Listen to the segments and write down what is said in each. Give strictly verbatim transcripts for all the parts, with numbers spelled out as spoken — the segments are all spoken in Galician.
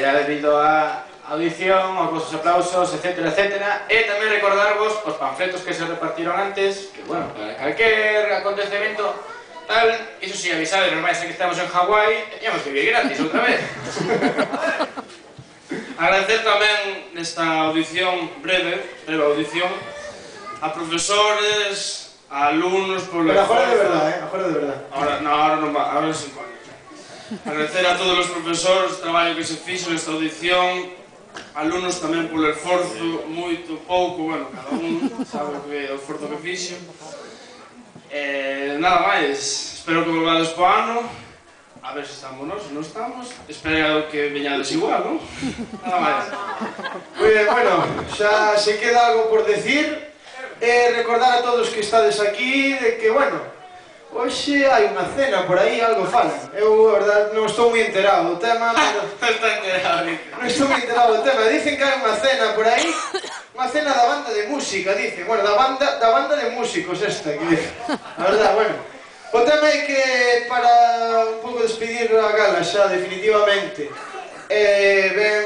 é debido á audición, aos vosos aplausos, etcétera, etcétera. E tamén recordarvos os panfletos que se repartiron antes, que, bueno, para calquer acontecemento tal, iso si, avisade, non vai ser que estamos en Hawái, teníamos que vir gratis outra vez. Agradecer tamén nesta audición breve, breve audición, a profesores, a alumnos por... Pero agora de verdad, eh? Agora de verdad. Ahora, no, ahora non va, ahora sin coño. Agradecer a todos os profesores o traballo que se fixo nesta audición, alumnos tamén polo esforzo, moito, pouco, bueno, cada un sabe que o esforzo que fixo. Eh, nada máis, espero que volvades po ano, a ver se estamos nós, se non estamos, espero que veñades igual, non? Nada máis. Moi ben, bueno, xa se queda algo por decir, e recordar a todos que estades aquí de que, bueno, hoxe hai unha cena por aí, algo falan. Eu, a verdade, non estou moi enterado do tema, pero... Non está enterado, non estou moi enterado do tema. Dicen que hai unha cena por aí, unha cena da banda de música, dicen. Bueno, da banda, da banda de músicos esta, que dicen. A verdade, bueno. O tema é que, para un pouco despedir a gala xa, definitivamente, eh, ben,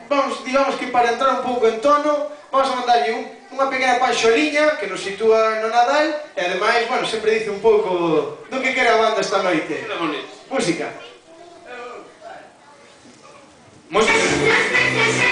vamos, digamos que para entrar un pouco en tono, vamos a mandarlle un unha pequena panxoliña que nos sitúa no Nadal e ademais, bueno, sempre dice un pouco do que quere a banda esta noite. Que bonito. Música. Música.